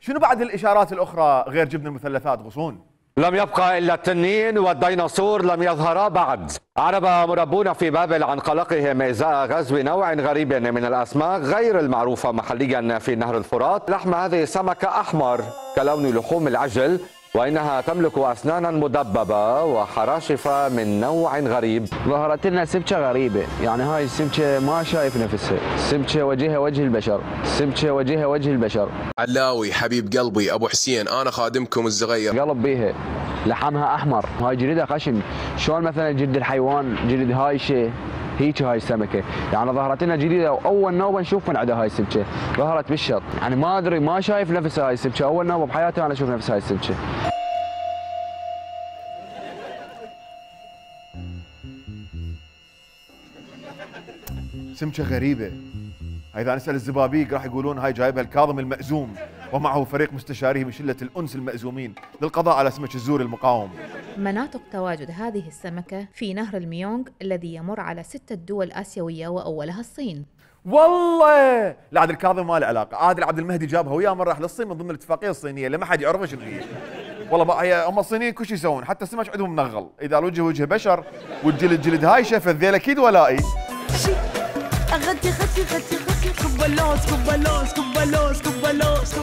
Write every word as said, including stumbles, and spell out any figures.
شنو بعد الاشارات الاخرى غير جبن المثلثات غصون؟ لم يبقى إلا التنين والديناصور لم يظهرا بعد. أعرب مربون في بابل عن قلقهم إزاء غزو نوع غريب من الأسماك غير المعروفة محليا في نهر الفرات. لحم هذه السمكة أحمر كلون لحوم العجل، وإنها تملك أسنانا مدببة وحراشف من نوع غريب. ظهرت لنا سمكة غريبة، يعني هاي السمكة ما شايف نفسها، السمكة وجهها وجه البشر، السمكة وجهها وجه البشر. علاوي حبيب قلبي أبو حسين، أنا خادمكم الصغير. قلب بيها، لحمها أحمر، هاي جلدها خشن، شلون مثلا جلد الحيوان جلد هايشة هيك هاي السمكة، يعني ظهرت لنا جديدة وأول نوبة نشوف من عندها هاي السمكة، ظهرت بالشط، يعني ما أدري ما شايف نفسها هاي السمكة، أول نوبة بحياتي أنا أشوف نفس هاي السمكة. سمكة غريبة. إذا نسأل الزبابيق راح يقولون هاي جايبها الكاظم المأزوم ومعه فريق مستشاريه من شلة الأنس المأزومين للقضاء على سمك الزور المقاوم. مناطق تواجد هذه السمكة في نهر الميونغ الذي يمر على ستة دول آسيوية وأولها الصين. والله لا عاد الكاظم ما له علاقة، عادل عبد المهدي جابها وياه مرة راح للصين من ضمن الاتفاقية الصينية اللي ما حد يعرفها شنو هي. والله بقى هي هم الصينيين كل شيء يسوون، حتى السمك عندهم منغل، إذا الوجه وجه بشر والجلد جلد هايشة فالذيل أكيد ولائي. أغتي غتي غتي غتي كبلوس كبلوس كبلوس كبلوس